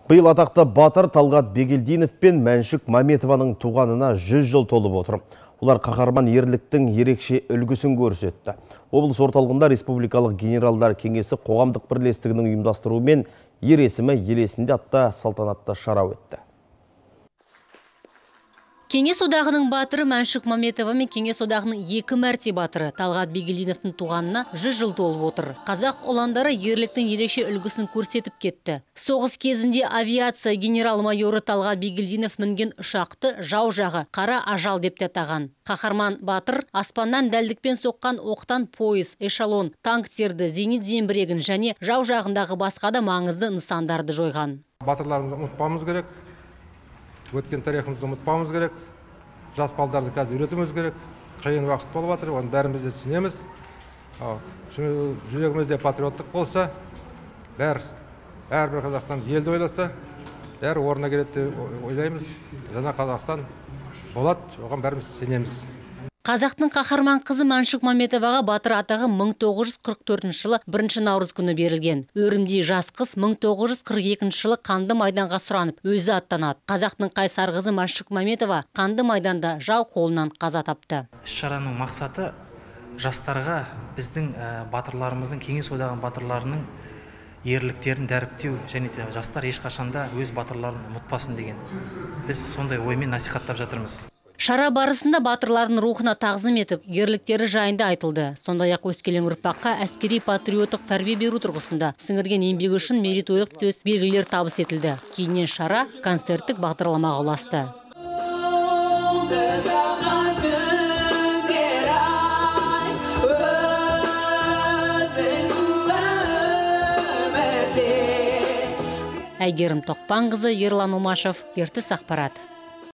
Биыл атақты батыр Талғат Бегелдинов пен Мәншүк Маметованың туғанына 100 жыл толып отыр. Олар қаһарман ерліктің ерекше үлгісін көрсетті. Облыс орталығында Республикалық генералдар кеңесі қоғамдық бірлестігінің ұйымдастыруымен ер есімі ел есінде атты салтанатты шара өтті. Кеңес одағының батыры Мәншүк Маметова мен Кеңес одағының 2 мәрте батыры Талғат Бегелдиновтың туғанына 100 жыл толып отыр. Қазақ ұландары ерліктің ерекше үлгісін көрсетіп кетті. Соғыс кезінде авиация генерал-майоры Талғат Бегелдинов мінген ұшақты жау жағы қара ажал деп те атаған. Қаһарман батыр аспаннан дәлдікпен соққан оқтан пойыз, эшелон, танктерді, зенит зеңбірегін және жау жағындағы басқа да маңызды нысандарды жойған. Батырларымызды ұмытпауымыз керек. Өткен тарихымызды ұмытпауымыз керек. Жас балдарды қазір үйретуіміз керек. Қиын уақыт болып жатыр, оны бәріміз де түсінеміз. Жүрегімізде патриоттық болса, әрбір Қазақстан елді ойласа, бәрі орнына келеді деп ойлаймыз. Жаңа Қазақстан болады, оған бәріміз сенеміз. Қазақтың қаһарман қызы Мәншүк Маметоваға батыр атағы 1944 жылы 1 наурыз күні берілген. Өрімдей жас қыз 1942 жылы қанды майданға сұранып, өзі аттанады. Қазақтың қайсар қызы Мәншүк Маметова қанды майданда жау қолынан қаза тапты. Іс-шараның мақсаты жастарға біздің батырларымыздың, Кеңес одағының батырларының ерліктерін дәріптеу және жастар ешқашанда өз батырларын ұмытпасын деген. Біз сондай оймен насихаттап жатырмыз. Шара барысында батырлардың рухына тағзым етіп, ерліктері жайында айтылды. Сондай-ақ өскелең ұрпаққа әскери патриоттық тәрбие беру тұрғысында сіңірген еңбегі үшін мерейтойлық төс белгілер табыс етілді. Кейіннен шара концерттік бағдарламаға ұласты. Әйгерім Тоқпанқызы, Ерлан Омашев, Ертіс ақпарат.